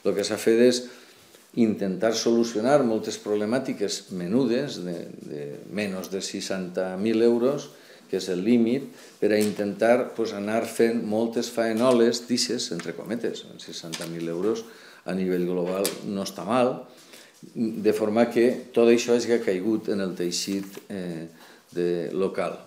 El que s'ha fet és intentar solucionar moltes problemàtiques menudes, de menys de 60.000 euros, que és el límit, per a intentar anar fent moltes faenoles, tixes, entre cometes, 60.000 euros a nivell global no està mal, de forma que tot això hagi caigut en el teixit local.